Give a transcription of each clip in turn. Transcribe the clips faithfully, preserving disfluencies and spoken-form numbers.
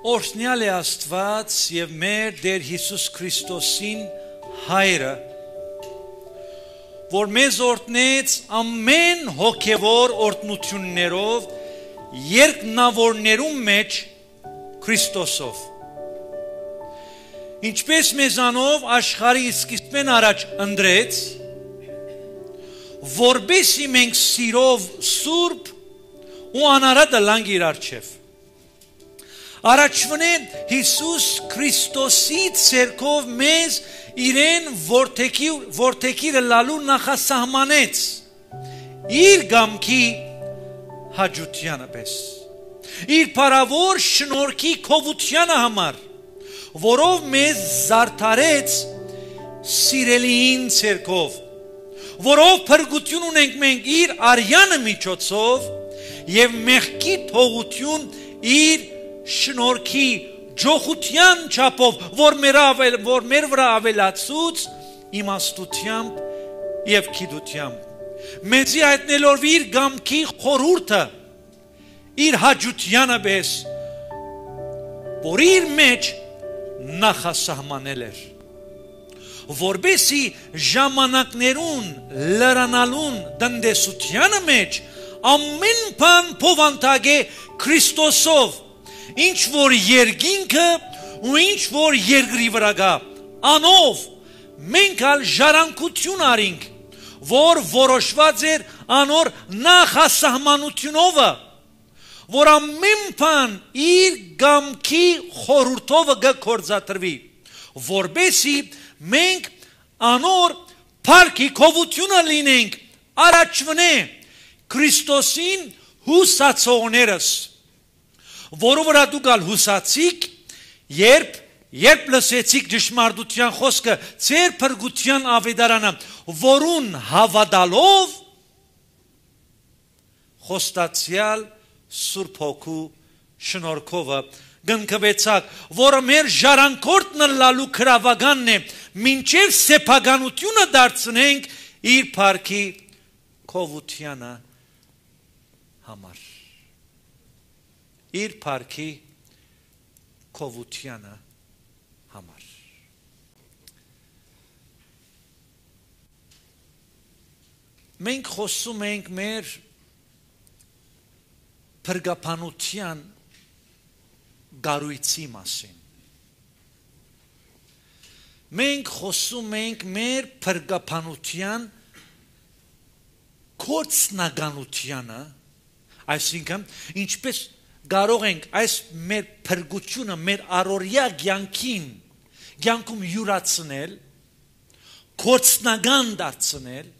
Օրհնյալ է Աստված եւ մեր Տեր Հիսուս Քրիստոսին հայրը, որ մեզ օրհնեց ամեն հոգևոր օրհնություններով երկնավորներում մեջ Քրիստոսով, ինչպես մեզանով աշխարհի սկիզբեն առաջ ընտրեց, որբեսի մենք սիրով սուրբ ու անարատ լանք իր առջև։ Առաջվնե Հիսուս Քրիստոսի ցերկով մեզ իրեն որդեկիրը լալու նախասահմանեց իր գամքի հաջությանը պես, իր փառավոր շնորհքի քովությանը համար, որով մեզ զարդարեց սիրելիին ցերկով, որով փրկություն ունենք մենք իր արյանը միջոցով եւ մեղքի թողություն իր շնորհքի ջոխության չափով, որ մեր ավել, որ մեր վրա ավելացուց իմաստությամբ եւ գիտությամբ, մեզի հայտնելով իր գամքի խորհուրդը իր հաջությանը պես, որ իր մեջ նախասահմանել էր, որբեսի ժամանակներուն լրանալուն դնդեսությանը մեջ ամեն բան փոխանցե Քրիստոսով, ինչ որ երկինքը ու ինչ որ երկրի վրա գա, անով մենք ալ ժառանգություն արինք, որ որոշված էր անոր նախասահմանությունով, որ ամեն բան իր գամքի խորհուրդով կգործադրվի, որբեսի մենք անոր փառքի քովությունը լինենք առաջվնե Քրիստոսին հուսացողներս, որով վրա դուք ալ հուսացիք, երբ երբ լսեցիք ճշմարտության խոսքը ձեր փրկության ավետարանը, որուն հավատալով խոստացյալ Սուրբ Հոգու շնորհքով գնկվեցաք, որը մեր ժառանգորդն լալու քրավականն է, մինչև սեփականությունը դարձնենք իր փառքի քովությանը համար, իր փառքի քովությանը համար։ Մենք խոսում ենք մեր փրկապանության գարույցի մասին։ Մենք խոսում ենք մեր փրկապանության կորցնականությանը, այսինքն ինչպես կարող ենք այս մեր փրկությունը մեր առօրյա կյանքին կյանքում յուրացնել, կորցնական դարձնել,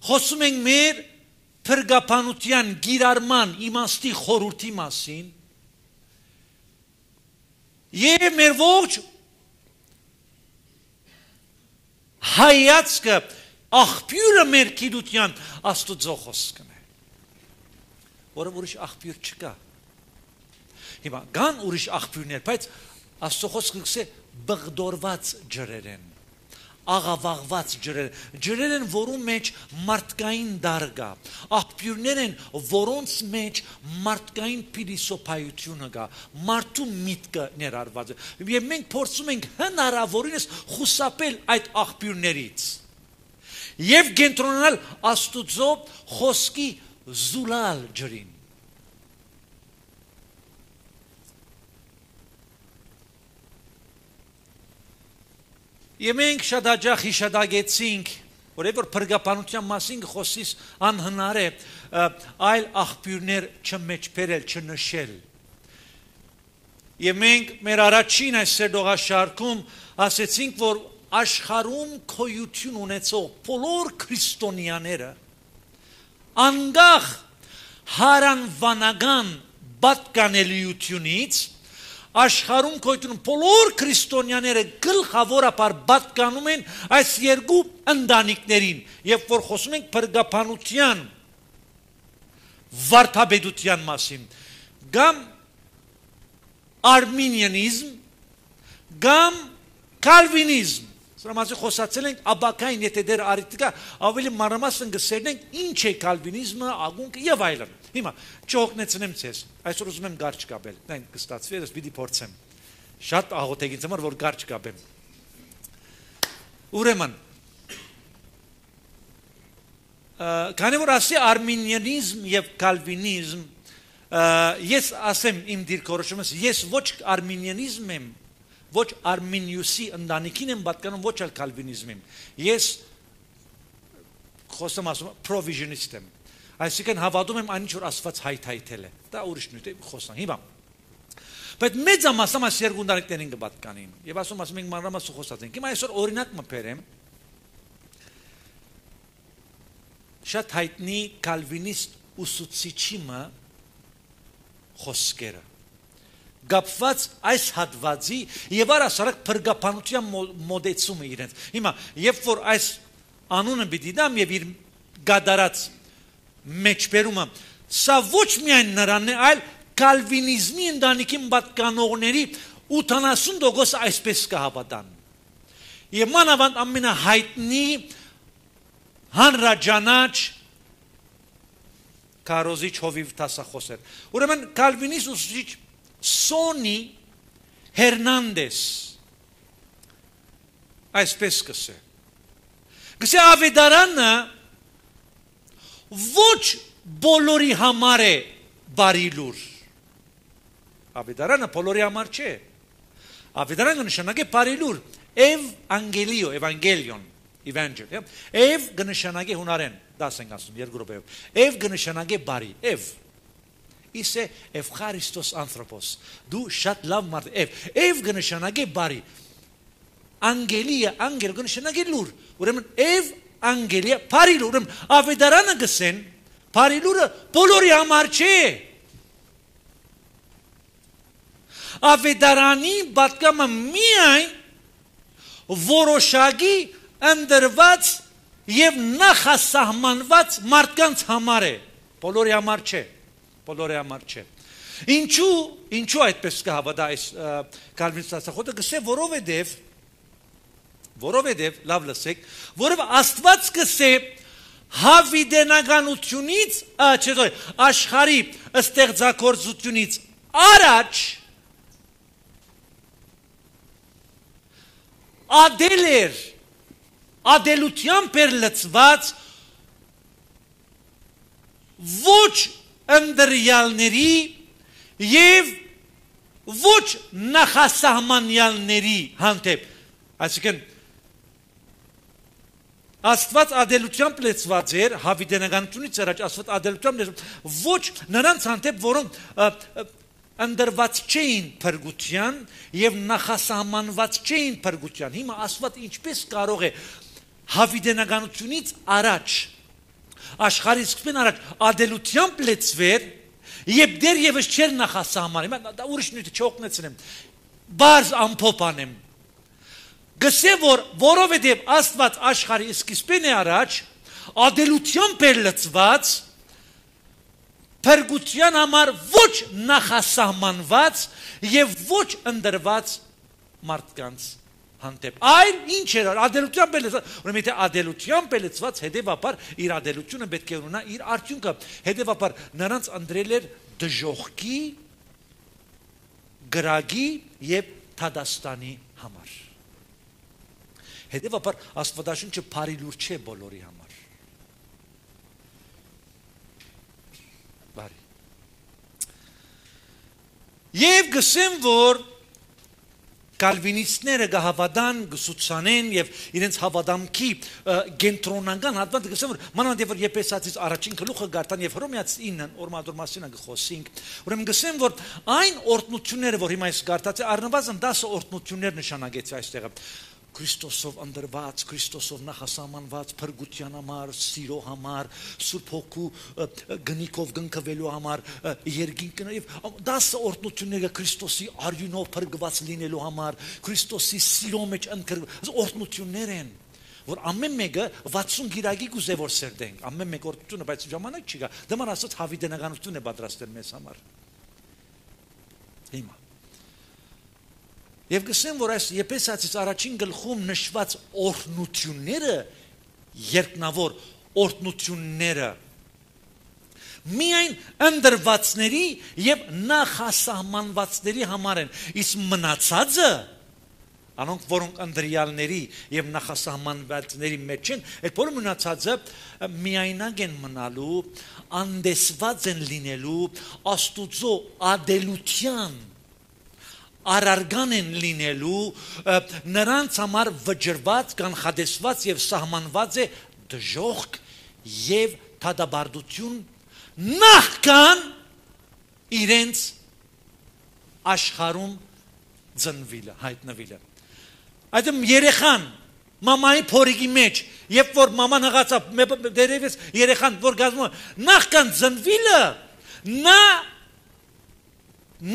խոսում ենք մեր փրկապանության գիրարման իմաստի խորհրդի մասին եւ մեր ողջ հայացքը աղբյուրը մեր գիտության Աստծո խոսքն է, որը ուրիշ աղբյուր չկա։ Հիմա կան ուրիշ աղբյուրներ, բայց Աստծո խոսքը գսե բղդորված ջրեր են, աղավաղված ջրեր, ջրեր են, որում մեջ մարդկային դար կա, աղբյուրներ են, որոնց մեջ մարդկային փիլիսոփայությունը կա, մարդու միտքը ներառված է, եւ մենք փորձում ենք հնարավորինս խուսափել այդ աղբյուրներից եւ կենտրոնանալ Աստուծո խոսքի զուլալ ջրին։ Եվ մենք շատ հաճախ հիշադակեցինք, որևէ փրկապանության մասին խոսիս անհնար է այլ աղբյուրներ չմեջբերել, չնշել։ Եվ մենք մեր առաջին այս սերտողաշարքում ասեցինք, որ աշխարհում քոյություն ունեցող բոլոր քրիստոնյաները անգախ հարանվանական պատկանելիությունից աշխարհում քոյություն բոլոր քրիստոնյաները գլխավորապես պատկանում են այս երկու ընտանիքներին, եւ որ խոսում ենք փրկապանության վարդապետության մասին, կամ արմինիանիզմ, կամ կալվինիզմ, Սրամասի խոսացել ենք աբակային, եթե դեր արիտիկա, ավելի մանրամասն գսերն ենք ինչ է կալվինիզմը, ագունքը եւ այլն։ Հիմա չօգնեցնեմ ցես։ Այսօր ուզում եմ գարչ կապել։ Դեն կստացվի, ես պիտի փորձեմ։ Շատ աղոթեգին ծմար, որ գարչ կապեմ։ Ուրեմն քանի որ ասի արմինիանիզմ եւ կալվինիզմ, ես ասեմ իմ դիրքորոշումս, ես ոչ արմինիանիզմ եմ, ոչ Արմինիուսի ընտանիքին եմ պատկանում, ոչ էլ կալվինիզմ եմ։ Ես խոսում ասում provisionist եմ։ Այսինքն հավատում եմ այն ինչ որ Աստված հայթայթել է։ Դա ուրիշ նույն է խոսան։ Հիմա բայց մեծամասն այս երկու ընտանիքներին կպատկանին։ Եվ ասում ասում ենք մանրամասն խոսած ենք։ Հիմա այսօր օրինակ մբերեմ շատ հայտնի կալվինիստ ուսուցիչի խոսքերը գապված այս հատվածի եւ առասարակ փրկապանության մոդեցումը իրենց։ Հիմա երբ որ այս անունը պիտի դամ եւ իր գադարած մեջբերումը, սա ոչ միայն նրանն է, այլ կալվինիզմի ընտանիքին պատկանողների ութանասուն տոկոսը այսպես կհավատան։ Եվ մանավանդ ամենահայտնի հանրաճանաչ քարոզիչ հովիվ տասախոսեր։ Ուրեմն կալվինիստ ուսուցիչ Սոնի Հերնանդես այսպես կսե կսե ավետարանը ոչ բոլորի համար է բարի լուր ավետարանը բոլորի համար չէ ավետարանը նշանակե բարի լուր Էվանգելիո Էվանգելիոն Evangel Էվ կնշանակե հունարեն դաս ենք ասում երկու րոպեով Էվ կնշանակե բարի Էվ Իսկ Էվխարիստոս անθρωպոս դու շատ լավ մարդ Էվ Էվ կնշանակե բարի Անգելիա անգել կնշանակե լուր ուրեմն Էվ անգելիա բարի լուր ուրեմն ավետարանը գսեն բարի լուրը բոլորի համար չէ ավետարանի պատկամը միայն որոշակի ընդրված եւ նախասահմանված մարդկանց համար է բոլորի համար չէ բոլորի համար չէ ինչու ինչու այդպես կհավատա այս կալվինիստ աստվածը գսե որովհետեւ որովհետեւ լավ լսեք որովհետեւ Աստված գսե հավիդենականությունից չէ աշխարհի ստեղծագործությունից առաջ ադելեր ադելության պերլծված ոչ ընդրյալների եւ ոչ նախասահմանյալների հանդեպ այսինքն Աստված ադելությամբ լեցված էր հավիդենականությունից առաջ Աստված ադելությամբ լեցված ոչ նրանց հանդեպ որոնք ընդրված չէին փրկության եւ նախասահմանված չէին փրկության հիմա Աստված ինչպես կարող է հավիդենականությունից առաջ աշխարհի սկզբին առաջ ադելությամբ լեցվեր եւ դեռևս չեր նախասահման հիմա դա ուրիշ նույնը չօգնեցնեմ բարձ ամփոփ անեմ գսե որ որովհետեւ Աստված աշխարհի սկզբին է առաջ ադելությամբ էր լցված փրկության համար ոչ նախասահմանված եւ ոչ ընդրված մարդկանց հանդեպ այլ ինչ էր ադելությամբ լեցված ուրեմն եթե ադելությամբ լեցված հետեւաբար իր ադելությունը պետք է ունենա իր արդյունքը հետեւաբար նրանց ընդրել էր դժոխքի գրագի եւ թադաստանի համար հետեւաբար Աստվածաշունչը բարի լուր չէ բոլորի համար բարի եւ գսեմ որ կալվինիստները գահավադան գսուցանեն եւ իրենց հավադամքի գենտրոնական հատված գսեմ որ մանավանդ որ Եփեսացից առաջին գլուխը գարտան եւ Հռոմեացի ինը օրմադոր մասին գխոսենք ուրեմն գսեմ որ այն օրտնությունները որ հիմա այս գարտած է առնվազն դասը օրտնություններ նշանակեցի այստեղը Քրիստոսով ընդրված, Քրիստոսով նախասահմանված փրկության համար, սիրո համար, Սուրբ Հոգու գնիկով գնկվելու համար, երկինքն եւ դասը օրտնությունները Քրիստոսի արյունով փրկված լինելու համար, Քրիստոսի սիրո մեջ ընկրված օրտնություններ են, որ ամեն մեկը վաթսուն գիրագի գուզե որ սերդենք, ամեն մեկ օրտնությունը, բայց ժամանակ չի գա, դման ասած հավիդենականություն է պատրաստել մեզ համար։ Հիմա Եվ գսեմ, որ այս Եփեսացիս առաջին գլխում նշված օրհնությունները, երկնավոր օրհնությունները միայն ընդրվածների եւ նախասահմանվածների համար են, իսկ մնացածը անոնք որոնք անդրյալների եւ նախասահմանվածների մեջ են, այդ բոլոր մնացածը միայնակ են մնալու, անդեսված են լինելու Աստուծո ադելության արարգան են լինելու, նրանց համար վճռված, կանխատեսված եւ սահմանված է դժոխք եւ թադաբարդություն նախքան իրենց աշխարհում ծնվելը, հայտնվելը։ Այդմ երեխան մամայի փորիկի մեջ, երբ որ մաման հղացավ, դերևս երեխան որ գազում նախքան ծնվելը, նա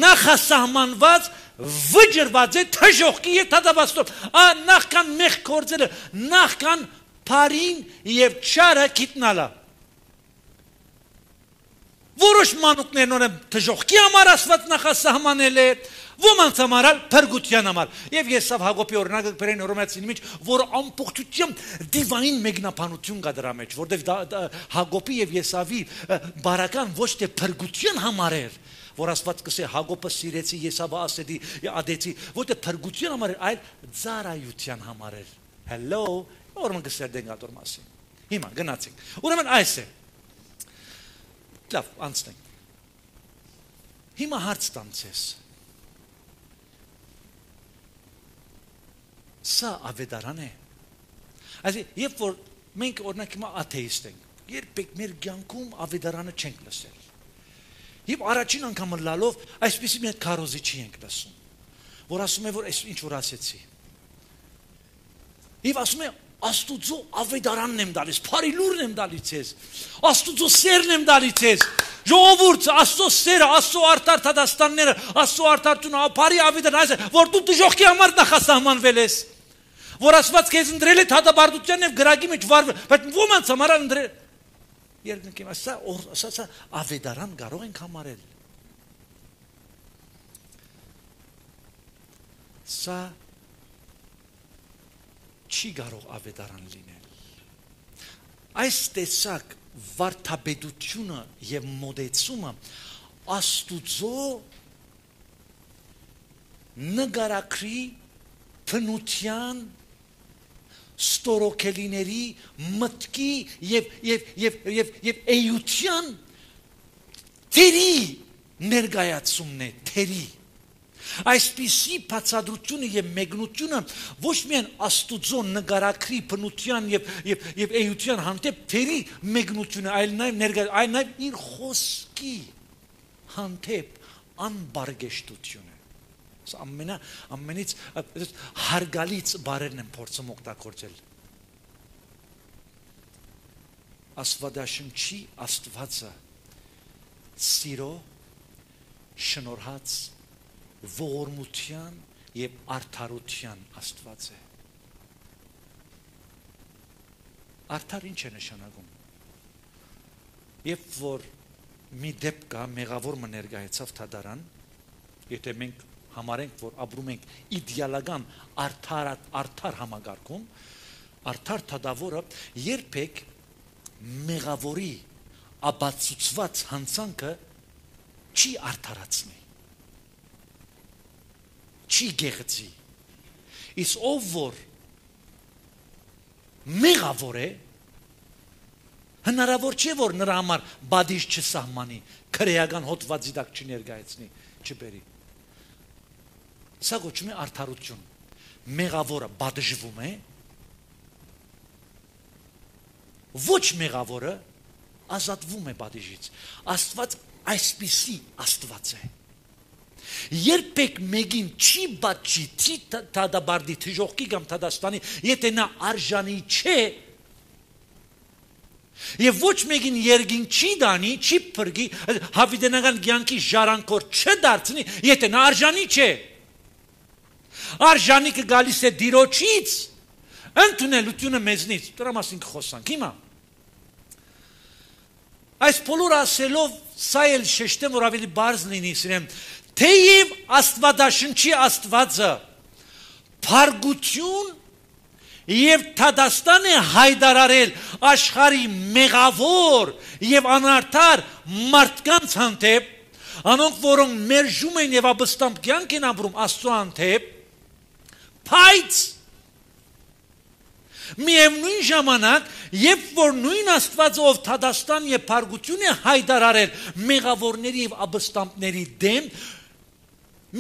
նախասահմանված վճռված է թժողքի եւ թադաբաստով, ա նախքան մեղք գործելը, նախքան բարին եւ չարը գիտնալը։ Որոշ մանուկներ նորեն թժողքի համար Աստված նախասահմանել է, ոմանց համար փրկության համար։ Եվ Եսավ Հակոբի օրինակը բերեն Հռոմեացին մեջ, որ ամբողջությամբ դիվային մեկնաբանություն կա դրա մեջ, որտեղ Հակոբի եւ Եսավի բարական ոչ թե փրկության համար էր, որ Աստված կսե Հակոբը սիրեցի, Եսավը ասեցի, ադեցի, ոչ թե փրկության համար էր, այլ ծառայության համար էր։ Hello, ուրեմն գսերդեն գատոր մասին։ Հիմա գնացինք։ Ուրեմն այս է։ Լավ, անցնենք։ Հիմա հարց տամ ձեզ։ Սա ավետարան է։ Այսինքն, երբ որ մենք օրինակ հիմա աթեիստ ենք, երբեք մեր կյանքում ավետարանը չենք լսել։ Եվ առաջին անգամ լալով այսպեսի մի հատ քարոզիչի ենք լսում, որ ասում է, որ այս ինչ որ ասեցի։ Եվ ասում է Աստուծո ավետարանն եմ դալիս, բարի լուրն եմ դալիս ես, Աստուծո սերն եմ դալիս ես, ժողովուրդ, Աստծո սերը, Աստծո արդար թադաստանները, Աստծո արդարությունը, բարի ավետարան, որ դու դժոխքի համար նախասահմանվել ես, որ Աստված քեզ ընտրել է թադաբարդության եւ գրագի մեջ վարվել, բայց ոմանց համար ընտրել։ Երկնքին, ասա, ասա, ավետարան կարող ենք համարել։ Սա չի կարող ավետարան լինել։ Այս տեսակ վարդապետությունը եւ մոդեցումը Աստուծո նկարագրի փնության ստորոքելիների մտքի եւ եւ եւ եւ եւ էյության թերի ներկայացումն է, թերի Այսպիսի բացատրությունը եւ մեկնությունը ոչ միայն Աստուծո նկարագրի բնության եւ եւ եւ էյության հանդեպ թերի մեկնությունը, այլ նաեւ ներկայ, այլ նաեւ իր խոսքի հանդեպ անբարգեշտությունը։ Սա ամենա ամենից հարգալից բառերն են փորձում օգտագործել։ Աստվածաշնչի Աստվածը սիրո շնորհած ողորմության եւ արդարության Աստված է։ Արդար ինչ է նշանակում։ Երբ որ մի դեպք կա, մեղավոր մը ներկայացավ թադարան, եթե մենք համարենք, որ ապրում ենք իդեալական արդար արդար համագարկում, արդար թադավորը երբեք մեղավորի ապացուցված հանցանքը չի արդարացնի։ Չի գեղեցի։ Իսկ ով որ մեղավոր է, հնարավոր չէ որ նրա համար բադիժ չսահմանի, քրեական հոդվածի տակ չներկայացնի, չբերի։ Սա գոչվում է արդարություն։ Մեղավորը բադժվում է, ոչ մեղավորը ազատվում է բադիժից։ Աստված այսպիսի Աստված է։ Երբեք մեկին չի բաճի, չի թադաբարդի, թժողքի կամ թադաստանի, եթե նա արժանի չէ, եւ ոչ մեկին երգին չի դանի, չի փրկի, հավիտենական կյանքի ժառանգոր չդարձնի, եթե նա արժանի չէ։ Արժանիքը գալիս է Տիրոջից, ընդունելությունը մեզնից։ Դրա մասին կխոսանք հիմա։ Այս բոլորը ասելով, սա էլ շեշտեմ, որ ավելի բարձ լինի, սիրեմ, թեև Աստվածաշնչի Աստվածը փարգություն եւ Թադաստան է հայտարարել աշխարհի մեղավոր եւ անարդար մարդկանց հանդեպ, անոնք որոնք մերժում են եւ ապստամբ կյանք են ապրում Աստծո հանդեպ, բայց միևնույն ժամանակ, երբ որ նույն Աստված ով Թադաստան եւ փարգություն է հայտարարել մեղավորների եւ ապստամբների դեմ,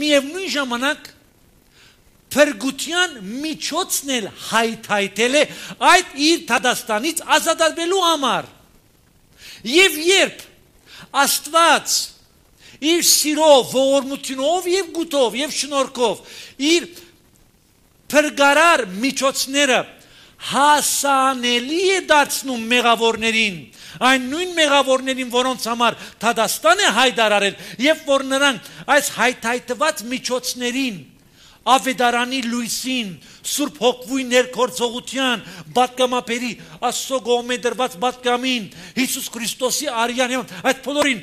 միևնույն ժամանակ փրկության միջոցն էլ հայթայթել է այդ իր Թադաստանից ազատվելու համար։ Եվ երբ Աստված իր սիրով, ողորմությունով եւ գուտով եւ շնորհքով իր փրկարար միջոցները հասանելի է դարձնում մեղավորներին, այն նույն մեղավորներին, որոնց համար Թադաստան է հայտարարել, եւ որ նրանք այս հայթայթված միջոցներին Ավետարանի լույսին, Սուրբ Հոգվի ներգործողության, բատկամապերի, Աստծո կողմէ դրված բատկամին, Հիսուս Քրիստոսի արյան, այդ բոլորին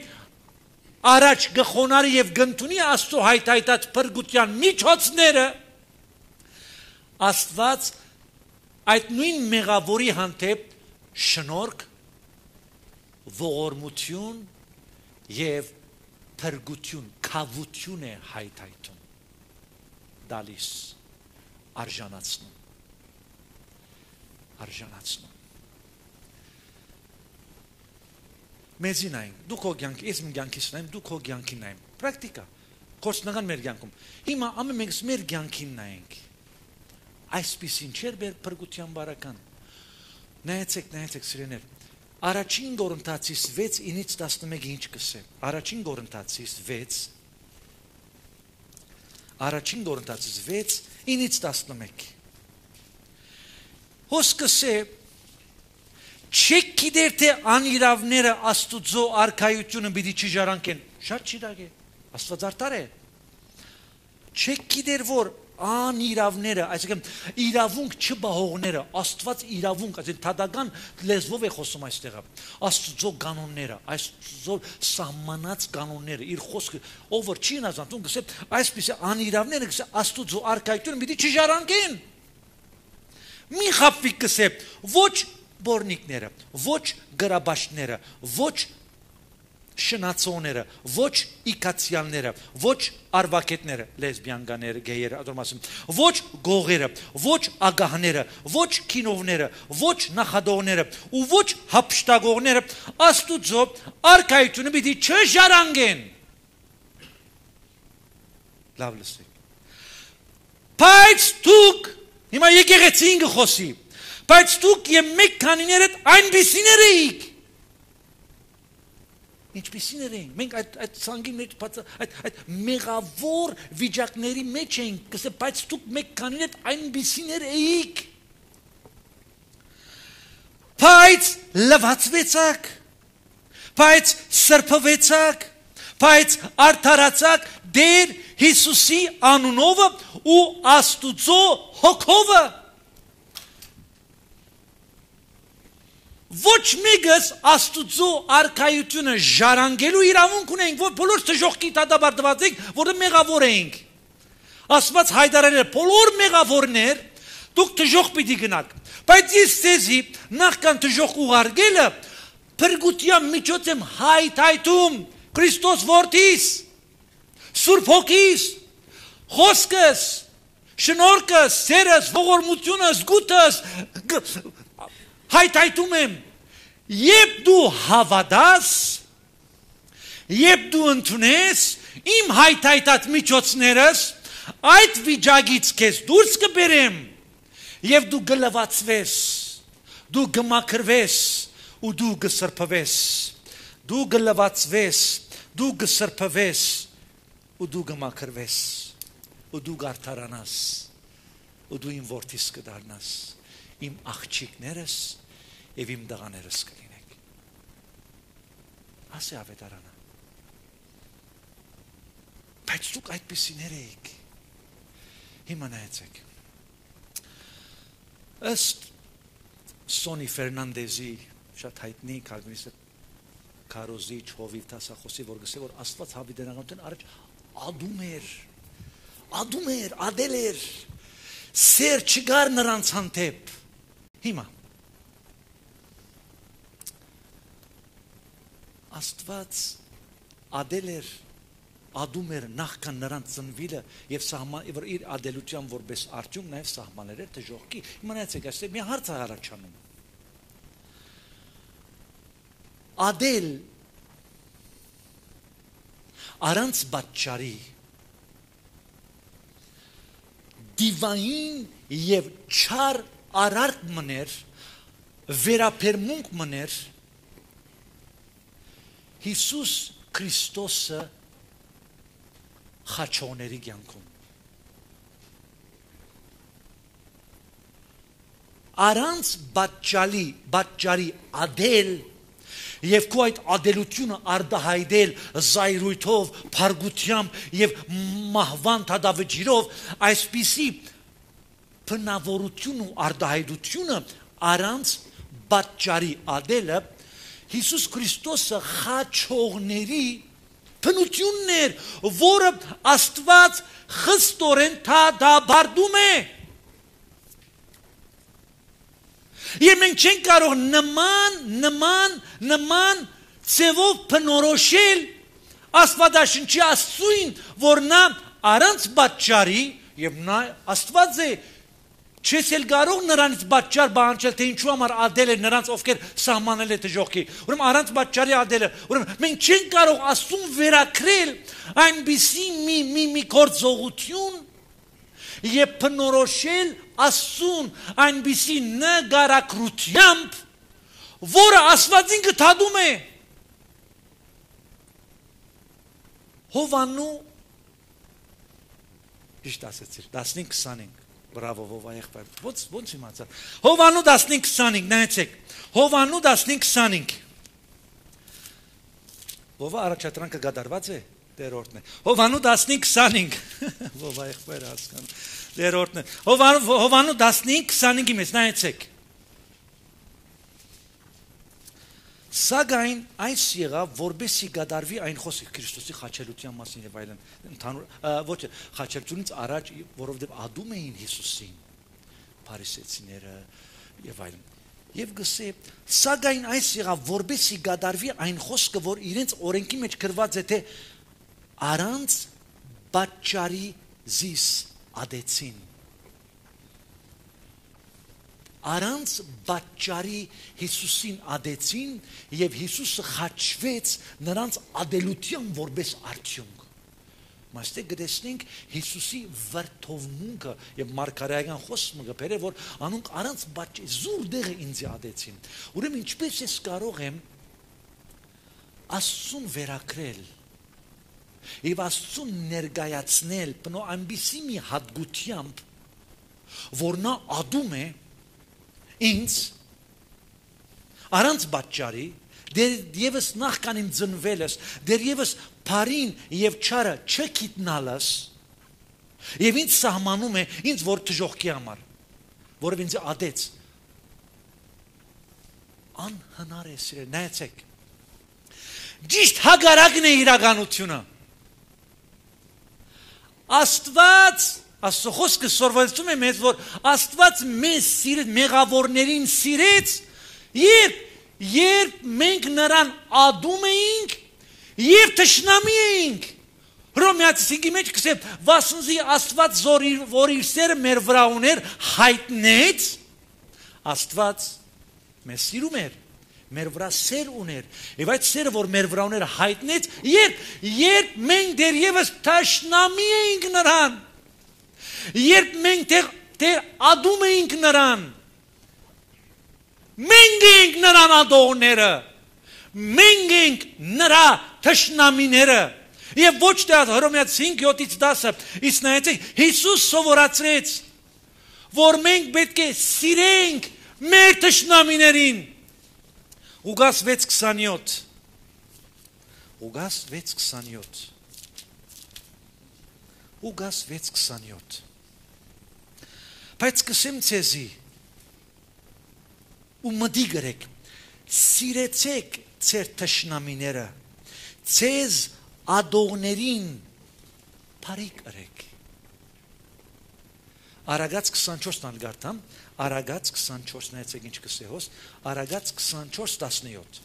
առաջ գխոնարի եւ գնդունի Աստծո հայթայթած փրկության միջոցները, Աստված այդ նույն մեղավորի հանդեպ շնորհք, ողորմություն եւ փրկություն, քավություն է հայթայթում, դալիս, արժանացնում, արժանացնում։ Մեզին այն, դու քո կյանքի, ես իմ կյանքից նայեմ, դու քո կյանքին նայեմ, պրակտիկա, կորցնական մեր կյանքում, հիմա ամեն մենք մեր կյանքին նայենք, այսպիսին չէր մեր փրկության բարական, նայեցեք, նայեցեք սիրեներ, առաջին Կորինթացիս վեց ինից տասնմեկը ինչ կսե, առաջին Կորինթացիս վեց, Առաջին Կորինթացիս վեց ինից տասնմեկ Հոսքս է չեք գիտեր թե անիրավները Աստուծո արքայությունը պիտի չժարանքեն, շատ չիրագ է, Աստված արդար է, չեք գիտեր որ անիրավները, այսինքն իրավունք չբահողները, Աստված իրավունք, այսինքն թադական լեզվով է խոսում այստեղը, Աստծո կանոնները, Աստծո սահմանած կանոնները, իր խոսքը, ով որ չի նազանտում, գսե այսպիսի անիրավները, գսե Աստծո արքայությունը պիտի չժարանքեն։ Մի խապվի գսե ոչ բորնիկները, ոչ գրաբաշները, ոչ շնացողները, ոչ իքացյանները, ոչ արվակետները, լեսբիանկաները, գեյերը, ոչ գողերը, ոչ ագահները, ոչ կինովները, ոչ նախադողները ու ոչ հափշտագողները Աստուծո արքայությունը պիտի չժարանգեն։ Լավ լսեք։ Բայց դուք, հիմա եկեղեցին կխոսի, բայց դուք եւ մեկ քանիներդ այնպիսիներ էիք։ Ինչպիսիներ էին, մենք այդ, այդ սանգի մեջ, այդ, այդ մեղավոր վիճակների մեջ էինք, կսե, բայց դուք մեկ կանին էդ այնպիսիներ էիք, բայց լվացվեցաք, բայց սրբվեցաք, բայց արդարացաք Տեր Հիսուսի անունովը ու Աստուծո հոգովը, ոչ մեկս Աստուծո արքայությունը ժառանգելու իրավունք ունենք, որ բոլոր թժողքի դատաբարտված ենք, որը մեղավոր ենք։ Աստված հայտարարել է բոլոր մեղավորներ, դուք թժող պիտի գնաք։ Բայց ես ցեզի նախքան թժող ուղարկելը փրկության միջոց եմ հայթայթում Քրիստոս որդիս, Սուրբ Հոգիս, խոսքս, շնորհքս, սերս, ողորմությունս, գուտս հայթայթում եմ, երբ դու հավատաս, երբ դու ընդունես իմ հայթայթած միջոցներս, այդ վիճակից քեզ դուրս կբերեմ եւ դու գլվացվես, դու գմաքրվես ու դու գսրբվես, դու գլվացվես, դու գսրբվես ու դու գմաքրվես ու դու գարթարանաս ու դու իմ որդիս կդառնաս, իմ աղջիկներս եւ իմ դղաներս կլինեք։ Ասե ավետարանը։ Բայց դուք այդպիսիներ եք։ Հիմա նայեցեք։ Ըստ Սոնի Ֆերնանդեզի շատ հայտնի կալվինիստ քարոզիչ հովիվ տասախոսի, որ գսե որ Աստված հավիտենականության առաջ ադում էր, ադում էր, ադել էր, Սեր չգար նրանց հանդեպ։ Հիմա Աստված ադել էր, ադում էր նախքան նրանց ծնվելը եւ սահման եւ իր ադելության որպես արդյունք նաեւ սահմաններ էր դժողքի։ Հիմա նայեցեք, այստեղ մի հարց է առաջանում։ Ադել առանց պատճառի դիվային եւ չար արարք մներ, վերապերմունք մներ Հիսուս Քրիստոսը խաչոների կյանքում։ Առանց պատճառի, պատճառի ադել եւ քո այդ ադելությունը արդահայտել զայրույթով, փարգությամբ եւ մահվան թադավջիրով, այսպիսի բնավորություն ու արդահայտությունը առանց պատճառի ադելը Հիսուս Քրիստոսը խաչողների բնությունն էր, որը Աստված խստորեն թադաբարդում է։ Եվ մենք չենք կարող նման, նման, նման ծևով բնորոշել Աստվածաշնչի Աստծուն, որ նա առանց պատճառի եւ նա Աստված է, չես էլ կարող նրանից պատճառ բանջել, թե ինչու համար ադել է նրանց, ովքեր սահմանել է դժողքի։ Ուրեմն առանց պատճառի ադելը, ուրեմն մենք չենք կարող Աստծուն վերակրել այնպիսի մի մի մի գործողություն եւ բնորոշել Աստծուն այնպիսի նկարագրությամբ, որը Աստվածին գտադում է։ Հովանու ճիշտ ասեցիր, տասնինք քսանինք, բրավո Վովա եղբայր, ոնց ոնց իմացա։ Հովանու տասնինք քսանինք, նայեցեք, Հովանու տասնինք քսանինք։ Վովա առաջադրանքը գդարված է, դերորդն է։ Հովանու տասնինք քսանինք, Վովա եղբայր հասկանում, դերորդն է։ Հովանու Հովանու տասնինք քսանինքի մեջ, նայեցեք։ Սակայն այս եղավ, որբեսի գդարվի այն խոսքը Քրիստոսի խաչելության մասին եւ այլն, ընդհանուր ոչ խաչելությունից առաջ, որովհետեւ ադում էին Հիսուսին, փարիսեցիները եւ այլն։ Եվ գսե, սակայն այս եղավ, որբեսի գդարվի այն խոսքը, որ իրենց օրենքի մեջ գրված է, թե առանց պատճառի զիս ադեցին։ Առանց պատճառի Հիսուսին ադեցին եւ Հիսուսը խաչվեց նրանց ադելության որպես արդյունք։ Մաստե գտեսնենք Հիսուսի վրթովմունքը եւ մարգարեական խոսքը գբերը, որ անոնք առանց պատճառի զուր դեղը ինձ ադեցին։ Ուրեմն ինչպես ես կարող եմ Աստծուն վերակրել եւ Աստծուն ներկայացնել բնո ամբիսի մի հատկությամբ, որ նա ադում է ինձ առանց պատճառի, դեռևս նախքան իմ ծնվելս, դեռևս բարին եւ չարը չգիտնալս, եւ ինձ սահմանում է ինձ որ դժողքի համար, որով ինձ ադեց։ Անհնար է սիրել, նայեցեք։ Ճիշտ հակառակն է իրականությունը։ Աստված Աստծո խոսքը սորվեցում է մեզ, որ Աստված մեզ սիրեց, մեղավորներին սիրեց, երբ երբ մենք նրան ադում էինք եւ թշնամի էինք։ Հռոմեացի cinque մեջ կսե վասնզի Աստված որ իր սերը մեր վրա ուներ հայտնեց, Աստված մեզ սիրում էր, մեր վրա սեր ուներ, եւ այդ սերը որ մեր վրա ուներ հայտնեց, երբ երբ մենք դեռևս թշնամի էինք նրան, երբ մենք դեռ դեռ ադում էինք նրան, մենք ենք նրան ադողները, մենք ենք նրա թշնամիները, եւ ոչ թե Հռոմեացի cinque յոթից դասը, իսկ նայեցեք, Հիսուս սովորացրեց, որ մենք պետք է սիրենք մեր թշնամիներին։ Ղուկաս վեց քսանյոթ Ղուկաս վեց քսանյոթ Ղուկաս վեց քսանյոթ Բայց կսեմ ցեզի ու մտի գրեք, սիրեցեք ձեր թշնամիները, ցեզ ադողներին բարի կրեք։ Արագած քսանչորսն ալ գարտամ, Արագած քսանչորս նայեցեք ինչ կսե հոս, Արագած քսանչորս տասնյոթ։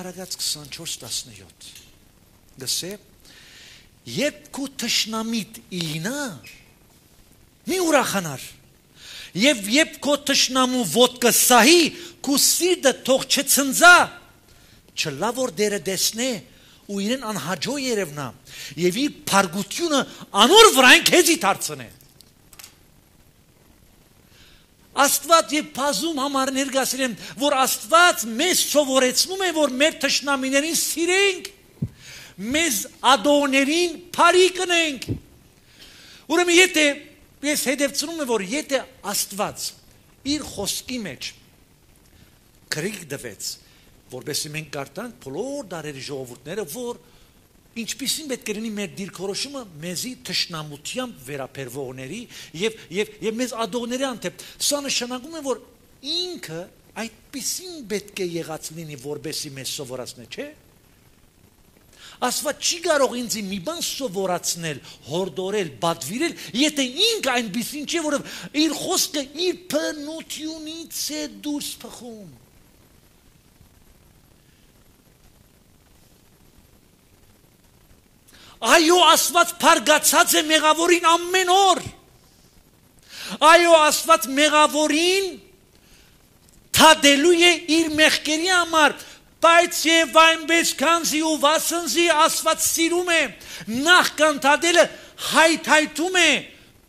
Արագած քսանչորս տասնյոթ։ Գսե երբ քու թշնամիտ իլինա մի ուրախանար։ Եվ երբ քո թշնամու ոտքը սահի, քու սիրտը թող չցնծա, չլա որ դերը դեսնե ու իրեն անհաջո երևնա եւ իր փարգությունը անոր վրան քեզի դարձնե։ Աստված եւ բազում համար ներկայացրեմ, որ Աստված մեզ սովորեցնում է, որ մեր թշնամիներին սիրենք, մեզ ադոներին բարի կնենք։ Ուրեմն եթե ես հետևցնում եմ, որ եթե Աստված իր խոսքի մեջ քրիկ դվեց, որովհետեւ մենք կարդանք բոլոր դարերի ժողովուրդները, որ ինչպիսին պետք է լինի մեր դիրքորոշումը մեզի թշնամությամբ վերապերվողների եւ եւ եւ մեզ ադողների անթեպ։ Սա նշանակում է, որ ինքը այդպիսին պետք է եղած լինի, որովհետեւ մեզ սովորացնե, չէ՞։ Աստված չի կարող ինձ մի բան սովորացնել, հորդորել, բադվիրել, եթե ինքը այնպիսին չէ, որ իր խոսքը իր բնությունից է դուրս փխում։ Այո, Աստված փարգացած է մեղավորին ամեն օր։ Այո, Աստված մեղավորին թադելու է իր մեղքերի համար, բայց եւ այնպես քանզի ու վասնզի Աստված սիրում է, նախքան թադելը հայթայթում է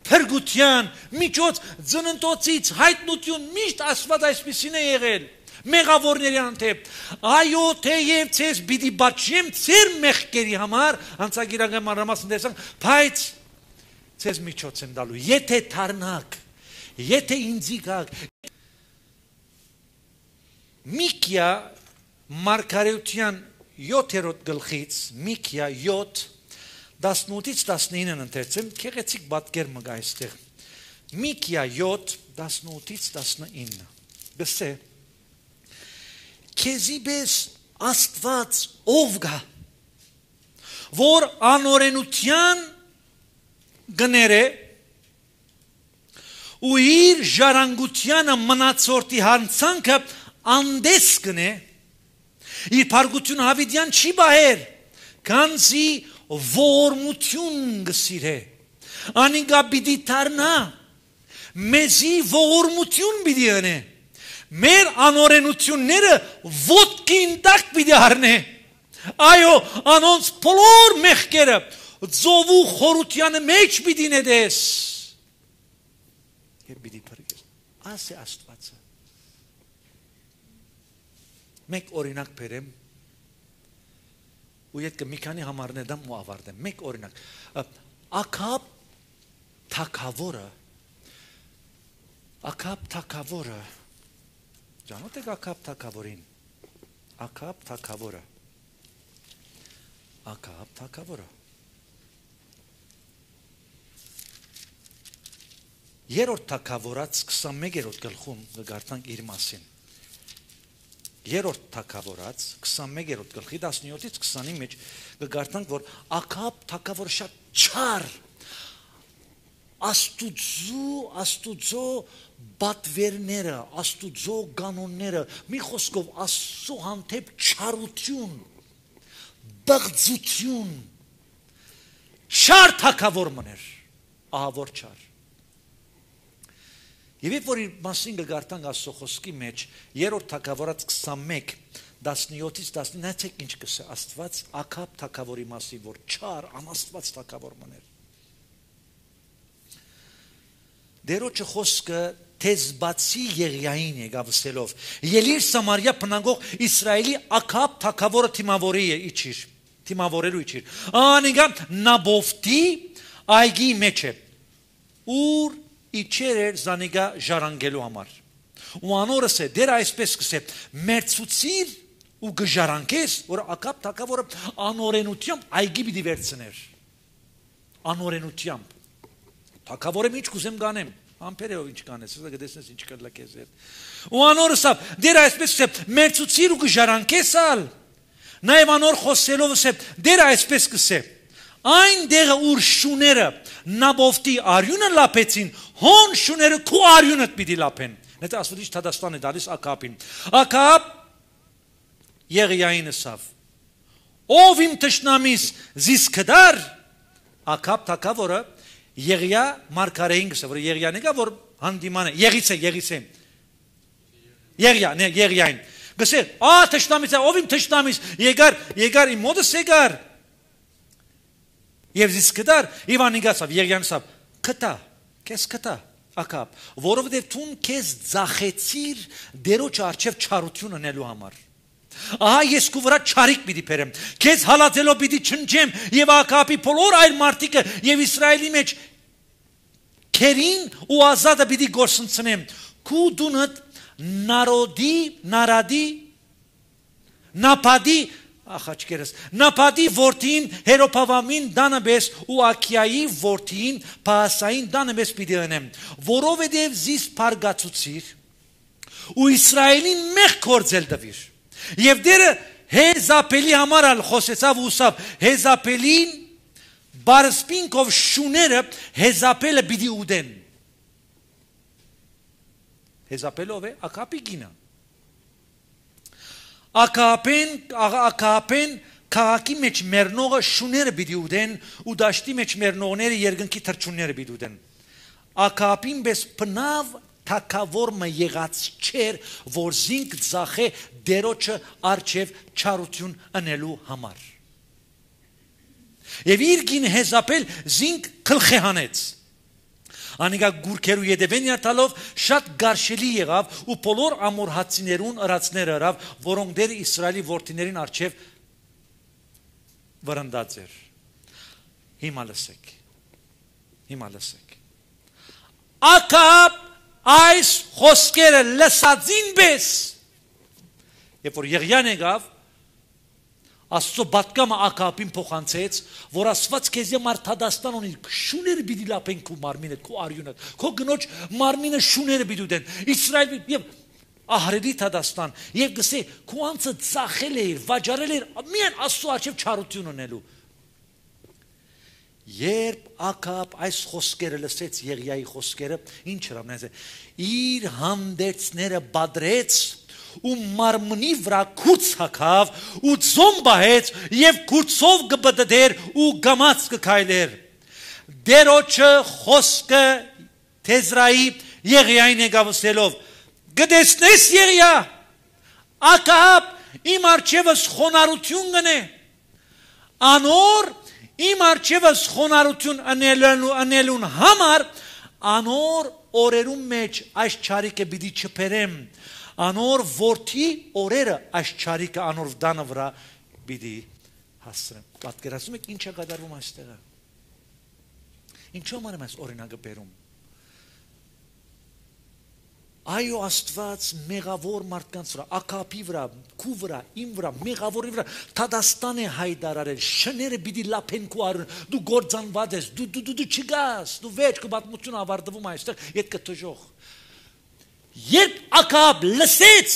փրկության միջոց ծննդոցից հայտնություն, միշտ Աստված այսպեսին է եղել մեղավորների անթեպ։ Այո, թեև ցես պիտի բաչեմ ծեր մեղքերի համար, անցագիրական մանրամասն տեսանք, բայց ցես միջոց եմ դալու, եթե թարնակ, եթե ինձի գաք։ Միկիա Մարգարեության յոթերորդ գլխից, Միկիա յոթ տասնութից տասնինը ընթերցեմ, քեղեցիկ պատկեր մը գա այստեղ։ Միկիա յոթ տասնութից տասնինը։ Գսե Քեզի պես Աստված ով գա, որ անօրենության գները ու իր ժառանգությանը մնացորդի հանցանքը անդես կնե, իր փարգությունը հավիդյան չի բահեր, քանզի ողորմություն գսիրե, անինգա պիտի դառնա, մեզի ողորմություն պիտի անե, մեր անօրենությունները ոտքին տակ պիտի առնե, այո, անոնց բոլոր մեղքերը ծովու խորությանը մեջ պիտի նետես, եւ պիտի փրկես, աս է Աստվածը։ Մեկ օրինակ բերեմ, ու ետքը մի քանի համարներ դամ ու ավարտեմ, մեկ օրինակ, Աքաբ թագավորը, Աքաբ թագավորը, Ջանոտ եք Աքաբ թագավորին, Աքաբ թագավորը, Աքաբ թագավորը, երրորդ թագավորած քսանմեկերորդ գլխում գարտանք իր մասին, երրորդ թագավորած քսանմեկերորդ գլխի տասնյոթից քսանի մեջ գարտանք, որ Աքաբ թագավորը շատ չար, Աստուծո, Աստուծո բատվերները, Աստուծո կանոնները, մի խոսքով Աստծո հանդեպ չարություն, բղծություն, չար թագավոր մներ, ահավոր չար։ Եվ երբ որ իր մասին գարտանք Աստծո խոսքի մեջ, երրորդ թագավորած քսանմեկ տասնյոթից տասնինը, նայեցեք ինչ կսե Աստված Աքաբ թագավորի մասին, որ չար, անաստված թագավոր մներ։ Դերոջը խոսքը թեզբացի Եղիային եկավ ասելով, ելիր Սամարիա բնակող Իսրայելի Աքաբ թագավորը թիմավորի է իջիր, թիմավորելու իջիր։ Անիկա Նաբովտի այգի մեջ է, ուր իջեր էր զանիկա ժառանգելու համար։ Ու անորս է, դեր այսպես կսե, մերցուցիր ու գժառանգես, որ Աքաբ թագավորը անօրենությամբ այգի պիտի վերցներ։ Անօրենությամբ։ Թագավորը ինչ կուզեմ կանեմ, ամպերով ինչ կանես, սա գտեսնես ինչ կլա քեզ հետ։ Ու անորսավ, դեր այսպես է, մերցուցիր ու գժառանգես ալ։ Նաև անոր խոսելով է, դեր այսպես կսե, Այն դեղը ուր շուները Նաբովտի արյունը լապեցին, հոն շուները քու արյունը պիտի լապեն։ Նետը ասվիչ Թադաստան է դալիս Ակապին։ Ակապ Եղիային ասավ. Ով իմ թշնամիս զիս կդար, Ակապ թագավորը Եղիա մարգարեին գսը, որ Եղիան եկա, որ հանդիման է, Եղից է, Եղից է։ Եղիա, ναι, Եղիային։ Գսեր, ա թշնամիս է, ով իմ թշնամիս, եկար, եկար իմ մոտս եկար։ Եվ զիս կդար, Իվան ինգասավ, Եղիան ասավ, կտա, կես կտա, Ակապ, որովհետև թուն քեզ ձախեցիր դերոջ արչև չարություն անելու համար։ Ահա ես քու վրա չարիք պիտի բերեմ, քեզ հալածելով պիտի չնջեմ եւ Ակապի բոլոր այլ մարդիկը եւ Իսրայելի մեջ քերին ու ազատը պիտի գործընծնեմ։ Քու դունդ նարոդի, նարադի, նապադի Ախաչկերս, նապադի որդին Հերոփավամին դանաբես ու Աքիայի որդին Պահասային դանաբես պիտի անեմ, որովհետև զիս փարգացուցիր ու Իսրայելին մեկ կործել դվիր։ Եվ դերը Հեզապելի համար ալ խոսեցավ ու սավ Հեզապելին բարսպինքով շուները Հեզապելը պիտի ուդեն։ Հեզապելով է Ակապի գինը։ Ակապեն, Ակապեն քաղաքի մեջ մեռնողը շուները պիտի ուդեն ու դաշտի մեջ մեռնողները երկնքի թռչունները պիտի ուդեն։ Ակապին պես բնավ թակավորը եղած չեր, որ զինք ձախե դերոջը արչև չարություն անելու համար։ Եվ իր գին Հեզապել զինք քլխե հանեց։ Անիկա գուրքերու յետևեն յարդալով շատ գարշելի եղավ ու բոլոր ամորհացիներուն ըրացներ ըրավ, որոնք դեր Իսրայելի որդիներին արչև վրընդած էր։ Հիմա լսեք, հիմա լսեք։ Ակապ այս խոսքերը լսածին պես, երբ որ Եղիան եկավ, Աստծո բատկամը Ակապին փոխանցեց, որ ասված քեզ համար Թադաստան ունի, շուները պիտի լապեն քու մարմինը, քու արյունը, քո գնոջ մարմինը շուները պիտի դեն։ Իսրայել եւ ահրելի Թադաստան, եւ գսե քու անցը ծախել էր, վաճառել էր, միայն Աստծո արչև չարություն ունելու։ Երբ Ակապ այս խոսքերը լսեց, Եղիայի խոսքերը, ինչ հրամնեց, իր հանդերձները բադրեց ու մարմնի վրա քուց հակավ ու ձոմ բահեց եւ քուցով գբդդեր ու գամած կքայլեր դերոջը խոսքը Թեզրայի Եղիային եկավսելով գտեսնես Եղիա Ակապ իմ արջևս խոնարհություն գնե անոր իմ արջևս խոնարհություն անելուն անելուն համար անոր օրերում մեջ այս չարիքը պիտի չփերեմ Անոր որդի օրերը այս չարիքը անոր վդանը վրա պիտի հասցրեմ։ Պատկերացնում եք ինչ է կատարվում այստեղը։ Ինչու համար եմ այս օրինակը բերում։ Այո Աստված մեղավոր մարդկանց վրա, Ակապի վրա, քու վրա, իմ վրա, մեղավորի վրա, Թադաստան է հայտարարել, շները պիտի լապեն քու արյուն, դու գործանված ես, դու դու դու չգաս, դու վեճ կբատմություն ավարտվում այստեղ, ետ կտժող։ Երբ Ակապ լսեց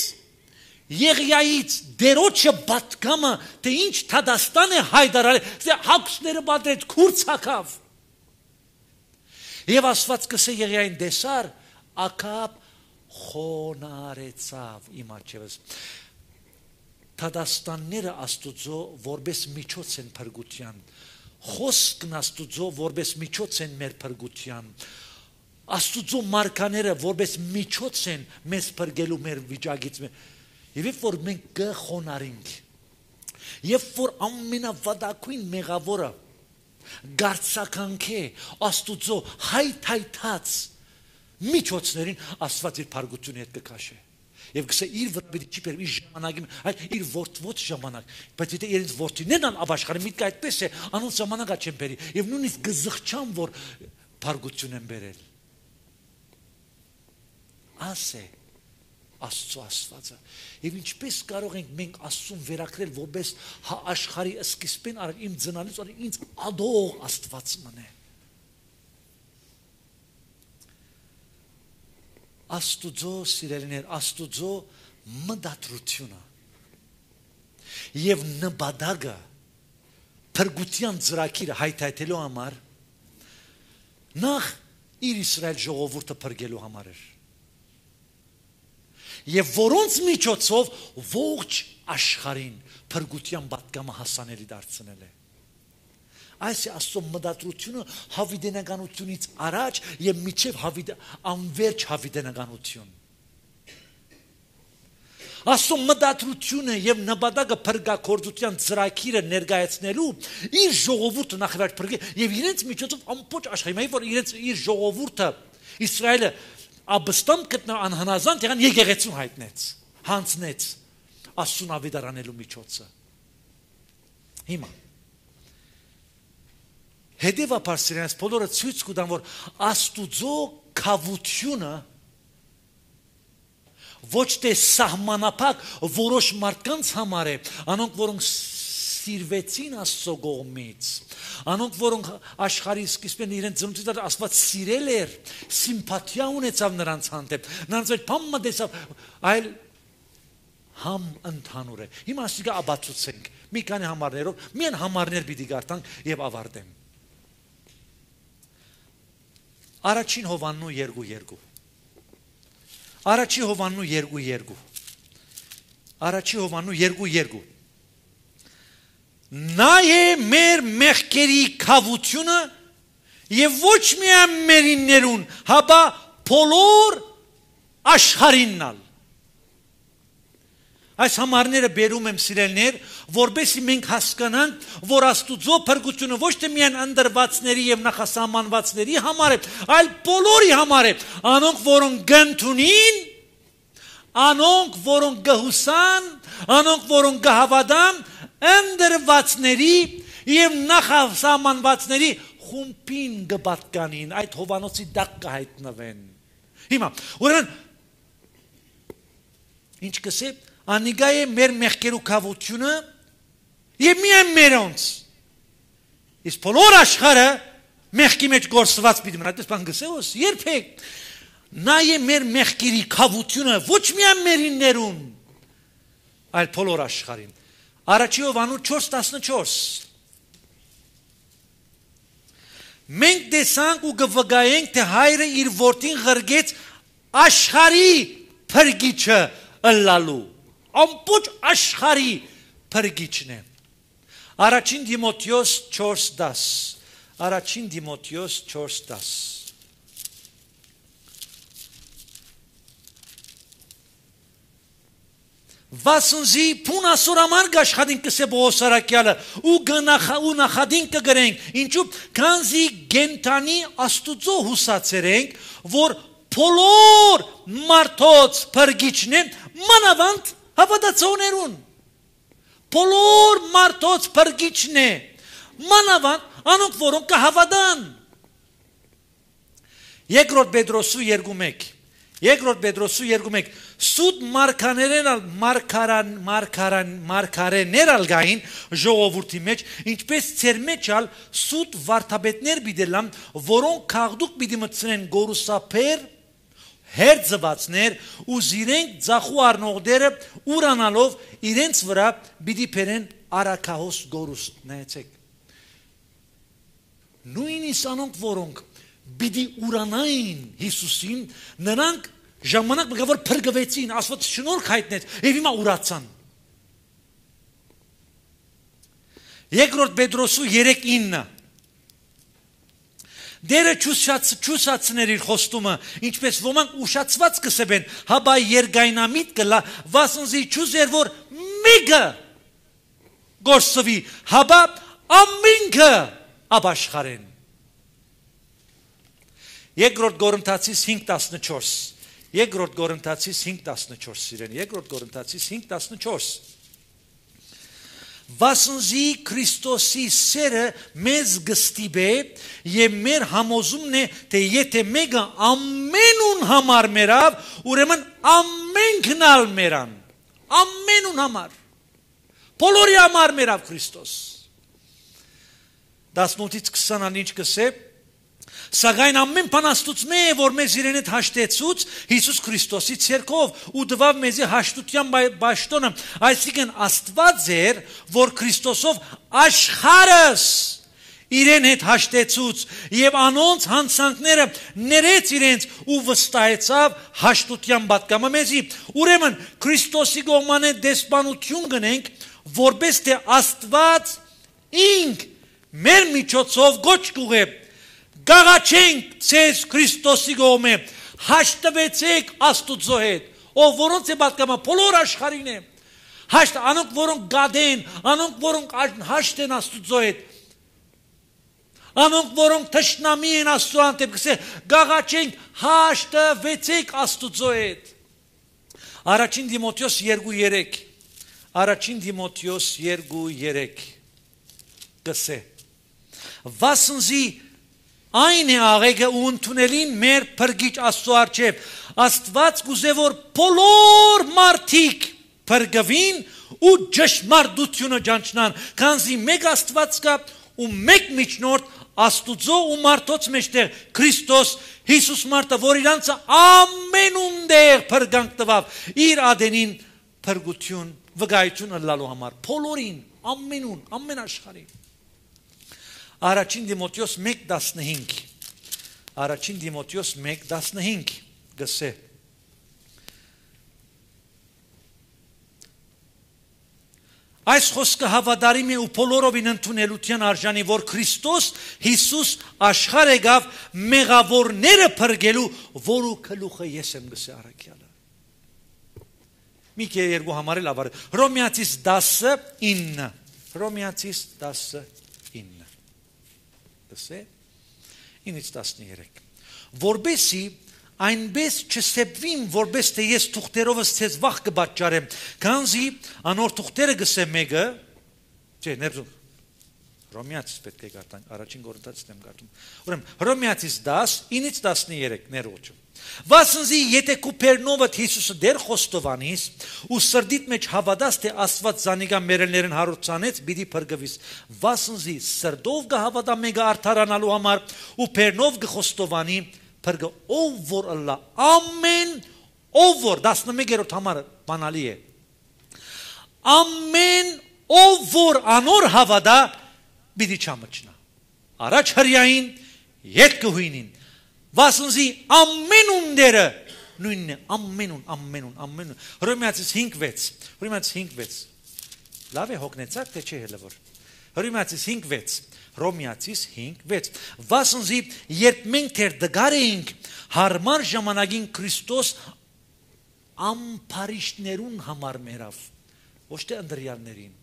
Եղիայից դերոջը բատկամը, թե ինչ Թադաստան է հայտարարել, թե հագուստները բադրեց, քուրց հակավ։ Եվ Աստված կսե Եղիային դեսար, Ակապ խոնարեցավ իմ արջևս։ Թադաստանները Աստուծո որպես միջոց են փրկության, խոսքն Աստուծո որպես միջոց են մեր փրկության, Աստուծո մարկաները որպես միջոց են մեզ փրկելու մեր վիճակից։ Եվ երբ որ մենք կխոնարհենք, երբ որ ամենավատակույն մեղավորը գարցականքե Աստուծո հայթայթած միջոցներին Աստված իր փրկությունը հետ կքաշե։ Եվ գսե իր վրա պիտի չի բերվի ժամանակի, այլ իր որդվոց ժամանակ։ Բայց եթե իրենց որդիներն ան ապաշխարեն, միտքը այդպես է, անոնց ժամանակա չեն բերի։ Եվ նույնիսկ գզղչան, որ փրկություն են բերել։ Ասե Աստծո Աստվածը։ Եվ ինչպես կարող ենք մենք Աստծուն վերակրել որպես աշխարհի սկիզբին արել իմ ծնալից որ ինձ ադող Աստված մնե։ Աստուծո սիրելիներ, Աստուծո մտադրությունը եւ նպատակը փրկության ծրագիրը հայթայթելու համար նախ իր Իսրայել ժողովուրդը փրկելու համար էր եւ որոնց միջոցով ողջ աշխարհին փրկության պատգամը հասանելի դարձնել է այս է Աստծո մտադրությունը հավիտենականությունից առաջ եւ միջև անverջ հավիտենականություն Աստծո մտադրությունը եւ նպատակը փրկակորձության ծրագիրը ներկայացնելու իր ժողովուրդը նախ փրկել եւ իրենց միջոցով ամբողջ աշխարհի որ իրենց իր ժողովուրդը Իսրայելը աբստամ գտնա անհնազանդ եղան եկեղեցուն հայտնեց հանձնեց Աստծուն ավետարանելու միջոցը հիմա հետևաբար սրանց բոլորը ցույց կտան որ Աստուծո կավությունը ոչ թե սահմանափակ որոշ մարդկանց համար է, անոնք որոնք սիրվեցին Աստծո կողմից, անոնք որոնք աշխարհի սկիզբին իրենց ծնունդից Աստված սիրել էր, սիմպաթիա ունեցավ նրանց հանդեպ, նրանց այդ բամը տեսավ, այլ համ ընդհանուր է։ Հիմա ասիկա աբացուցենք, մի քանի համարներով, միայն համարներ պիտի գարտանք եւ ավարտեմ։ Առաջին Հովաննու երկու երկու Առաջի Հովաննու երկու երկու Առաջի Հովաննու երկու երկու Նա է մեր մեղքերի քավությունը եւ ոչ միայն մերիններուն, հապա բոլոր աշխարհիննալ Այս համարները բերում եմ սիրելներ, որբեսի մենք հասկանանք, որ Աստուծո փրկությունը ոչ թե միայն ընդրվածների եւ նախասահմանվածների համար է, այլ բոլորի համար է, անոնք որոնք գնդունին, անոնք որոնք գհուսան, անոնք որոնք գհավատան, ընդրվածների եւ նախասահմանվածների խումբին գպատկանին, այդ Հովանոցի դակ կհայտնվեն։ Հիմա, ուրեմն ինչ կսե Անիգա է մեր մեղքերու քավությունը եւ միայն մերոնց իսկ բոլոր աշխարհը մեղքի մեջ գործված պիտի մնա այդպես բան գսեոս երբեք նա է մեր մեղքերի քավությունը ոչ միայն մերիններուն այլ բոլոր աշխարհին Առաջի Հովաննու չորս տասնչորս Մենք տեսանք ու կվգայենք թե հայրը իր որդին ղրգեց աշխարհի փրկիչը ըլլալու Ամբողջ աշխարհի փրկիչն է Առաջին Դիմոթեոս չորս դաս Առաջին Դիմոթեոս չորս դաս Վասնզի փուն ասորաման գաշխադին կսե բողոսարակյալը ու գնախա ու նախադին կգրենք ինչու քանզի գենտանի Աստուծո հուսացերենք որ բոլոր մարդոց փրկիչն է մանավանդ Հավատացողներուն բոլոր մարդոց փրկիչն է մանավանդ անոնք որոնք կհավատան Երկրորդ Պետրոսու երկու մեկ Երկրորդ Պետրոսու երկու մեկ Սուտ մարգարեներ մարգարան մարգարան մարգարեներ ալգային ժողովրդի մեջ ինչպես ծեր մեջ ալ սուտ վարդապետներ բիդելամ որոնք քաղդուկ պիտի մտցնեն գորուսապեր Հերձվածներ ու զիրենք ձախու առնողները ուրանալով իրենց վրա պիտի բերեն արաքահոս գորուստ նայեցեք նույնիսկ անոնք որոնք պիտի ուրանային Հիսուսին նրանք ժամանակ մը որ փրկվեցին Աստված շնորհք հայտնեց եւ հիմա ուրացան Երկրորդ Պետրոսու երեք ինը Դերը չուսացներ իր խոստումը, ինչպես ոմանք ուշացված կսեբեն, հաբա երգայնամիտ կլա, վասնզի չուզեր, որ մեկը գործվի, հաբա ամինքը աբաշխարեն։ Երկրորդ Կորինթացիս հինգ տասնչորս Երկրորդ Կորինթացիս հինգ տասնչորս սիրեն, Երկրորդ Կորինթացիս հինգ տասնչորս Վասնզի Քրիստոսի սերը մեզ գստիբե եւ մեր համոզումն է թե եթե մեկը ամենուն համար մերավ ուրեմն ամենքն ալ մերան ամենուն համար բոլորի համար մերավ Քրիստոս տասնութից քսանին ինչ կսե Սակայն ամեն բան Աստծո է, որ մեզ իրեն հետ հաշտեցուց Հիսուս Քրիստոսի ցերկով ու տվավ մեզի հաշտության բաշտոնը, այսինքն Աստված էր, որ Քրիստոսով աշխարհս իրեն հետ հաշտեցուց եւ անոնց հանցանքները ներեց իրենց ու վստահեցավ հաշտության պատգամը մեզի։ Ուրեմն Քրիստոսի կողմանը դեսպանություն գնենք, որպես թե Աստված ինք մեր միջոցով գոչ կուղե գաղաչենք ցեզ Քրիստոսի կողմը, հաշտվեցեք Աստուծո հետ, ով որոնց է պատգամը բոլոր աշխարհին է։ Հաշտ անոնք որոնք գադեն, անոնք որոնք հաշտ են Աստուծո հետ, անոնք որոնք թշնամի են Աստծո հանդեպ, գսե գաղաչենք, հաշտվեցեք Աստուծո հետ։ Առաջին Դիմոթեոս երկու երեք, Առաջին Դիմոթեոս երկու երեք գսե վասնզի այն է աղեգը ու ընդունելին մեր փրկիչ Աստծո առջև, Աստված կուզե որ բոլոր մարդիկ փրկվին ու ճշմարտությունը ճանչնան, քանզի մեկ Աստված կա ու մեկ միջնորդ Աստուծո ու մարդոց մեջտեղ Քրիստոս Հիսուս մարդը, որ իրանցը ամենունդեղ փրկանք տվավ իր ադենին փրկություն վկայություն ըլլալու համար, բոլորին, ամենուն, ամեն աշխարհին։ Առաջին Դիմոթեոս մեկ տասնհինգ, Առաջին Դիմոթեոս մեկ տասնհինգ գսե Այս խոսքը հավատարիմ է ու բոլորովին ընդունելության արժանի, որ Քրիստոս Հիսուս աշխարհ եկավ մեղավորները փրկելու, որու գլուխը ես եմ գսե առաքյալը։ Մի կեր երկու համարել ավար Հռոմեացիս դասինը, Հռոմեացիս դասինը գսե ինից տասներեք որբեսի այնպես չսեպվին, որպես թե ես թուղթերովս ցեզ վախ կբաճարեմ, քանզի անոր թուղթերը գսե մեկը, չէ, ներզում, Հռոմեացիս պետք է գարտան, առաջին Կորինթացիներն եմ գարտում, ուրեմն Հռոմեացիս դաս, ինից տասներեք ներողություն, վասնզի եթե Կուպերնովդ Հիսուսը դեր խոստովանիս ու սրդիդ մեջ հավատաս, թե Աստված զանիկա մերելներն հարուցանեց, պիտի փրկվիս, վասնզի սրդով կհավատա մեկը արդարանալու համար ու Պերնով կխոստովանի Փրկը ով որ ըլլա ամեն ով որ տասնմեկերորդ համարը բանալի է ամեն ով որ անոր հավատա պիտի չամճնա առաջ հրյային ետ կհույնին վասնզի ամենունդերը նույնն է ամենուն ամենուն ամենուն Հռոմեացիս հինգ վեց Հռոմեացիս հինգ վեց լավ է հոգնեցակ թե չէ հələ որ Հռոմեացիս հինգ վեց Հռոմեացիս հինգ վեց վասնզի երբ մենք թեր դգար էինք հարմար ժամանակին Քրիստոս ամփարիշներուն համար մերավ ոչ թե անդրյալներին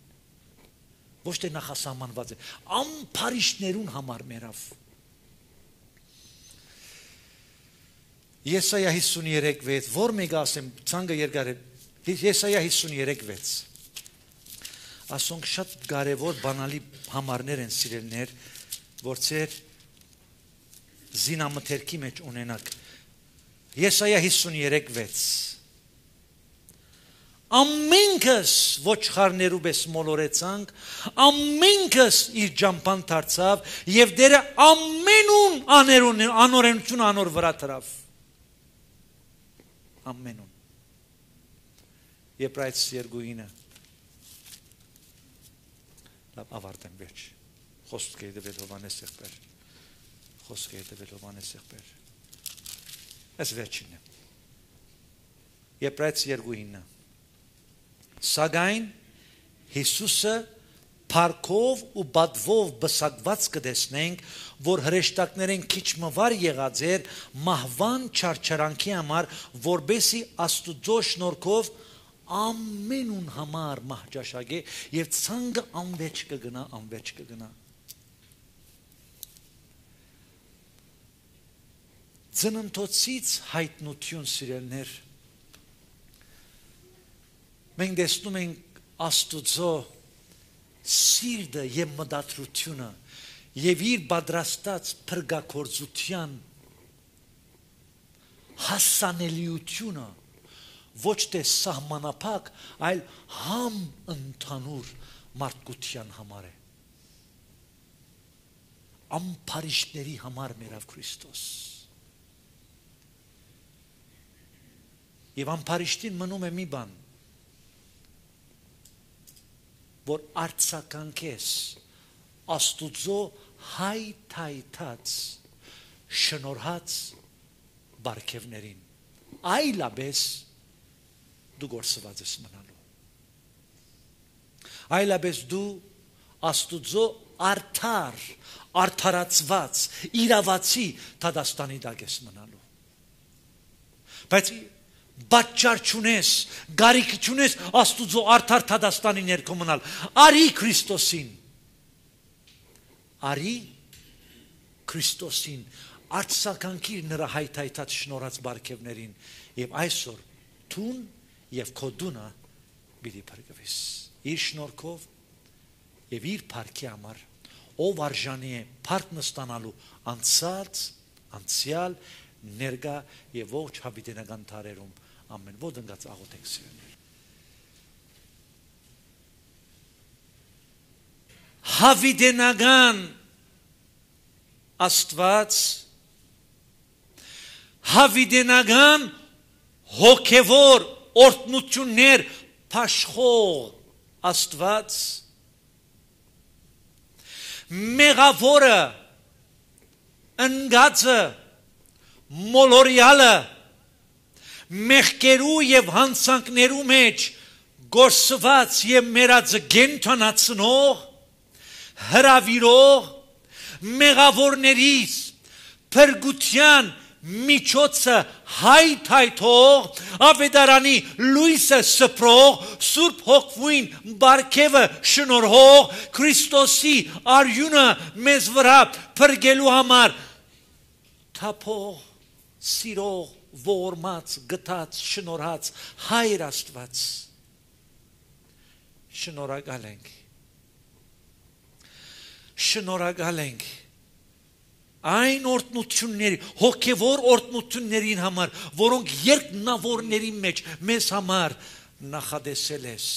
ոչ թե նախասահմանված է ամփարիշներուն համար մերավ Եսայա հիսուներեք վեց որ մեկ ասեմ ցանկը երկար է Եսայա հիսուներեք վեց Ասոնք շատ կարևոր բանալի համարներ են սիրելներ, որ ծեր զինամթերքի մեջ ունենակ։ Եսայա հիսուներեք վեց Ամենքս ոչխարներու պես մոլորեցանք, ամենքս իր ջամփան դարձավ եւ դերը ամենուն աներուն անօրենություն անոր վրա դրավ։ Ամենուն։ Եբրայեցիս երկուինը ավարտեմ վերջ խոսք է դվել Հովանես եղբայր խոսք է դվել Հովանես եղբայր այս վերջինն է Եբրայեցիս երկուինը Սակայն Հիսուսը փառքով ու բադվով բսակված կտեսնենք որ հրեշտակներեն քիչ մվար եղած էր մահվան չարչարանքի համար որբեսի Աստուծո շնորհքով ամենուն համար մահճաշակ է եւ ցանկը անվեճ կգնա անվեճ կգնա Ծննդոցից հայտնություն սիրելներ մենք տեսնում ենք Աստուծո սիրտը եւ մտադրությունը եւ իր պատրաստած փրկագործության հասանելիությունը ոչ թե սահմանափակ, այլ համ ընդհանուր մարդկության համար է։ ամփարիշտների համար մերավ Քրիստոս։ Եվ ամփարիշտին մնում է մի բան, որ արցականքես Աստուծո հայթայթած շնորհած բարգևներին, այլապես դու գործված ես մնալու, այլապես դու Աստուծո արդար, արդարացված, իրավացի Թադաստանի դակ ես մնալու, բայց պատճառ չունես, գարիք չունես Աստուծո արդար Թադաստանի ներքո մնալ, արի Քրիստոսին, արի Քրիստոսին, արձագանքիր նրա հայթայթած շնորհած բարգևներին եւ այսօր տուն եւ քո դունը պիտի փրկվես իր շնորհքով եւ իր փառքի համար, ով արժանի է փառք նստանալու անցած, անցյալ, ներկա եւ ողջ հավիտենական տարերում ամեն ոդնգած աղոթենք սիրելիներ։ Հավիտենական Աստված, հավիտենական հոգևոր օրհնություններ փաշխող Աստված, մեղավորը, ընկածը, մոլորյալը, մեղքերու եւ հանցանքներու մեջ գործված եւ մերածը գենթանացնող, հրավիրող, մեղավորներից փրկության միջոցը հայթայթող, ավետարանի լույսը սփռող, Սուրբ Հոգվին բարգևը շնորհող, Քրիստոսի արյունը մեզ վրա փրկելու համար թափող, սիրող, ողորմած, գտած, շնորհած Հայր Աստված, շնորհակալ ենք, շնորհակալ ենք այն օրհնությունների, հոգևոր օրհնություններին համար, որոնք երկնավորների մեջ մեզ համար նախադեսել ես,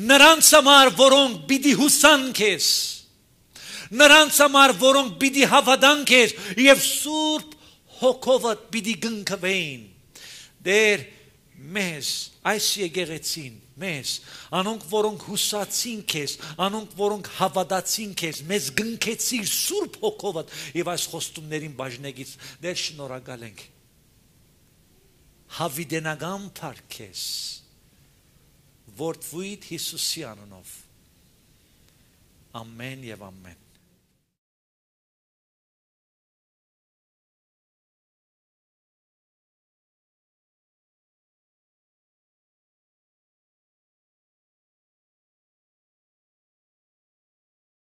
նրանց համար, որոնք պիտի հուսան քեզ, նրանց համար, որոնք պիտի հավատան քեզ եւ Սուրբ Հոգովդ պիտի գնքվեին, դեր մեզ այս եկեղեցին, մեզ, անոնք որոնք հուսացին քեզ, անոնք որոնք հավատացին քեզ, մեզ գնքեցիր Սուրբ Հոգովդ եւ այս խոստումներին բաժնեգից, դեր շնորհակալ ենք, հավիտենական փառք քեզ, որդվույթ Հիսուսի անունով, ամեն եւ ամեն։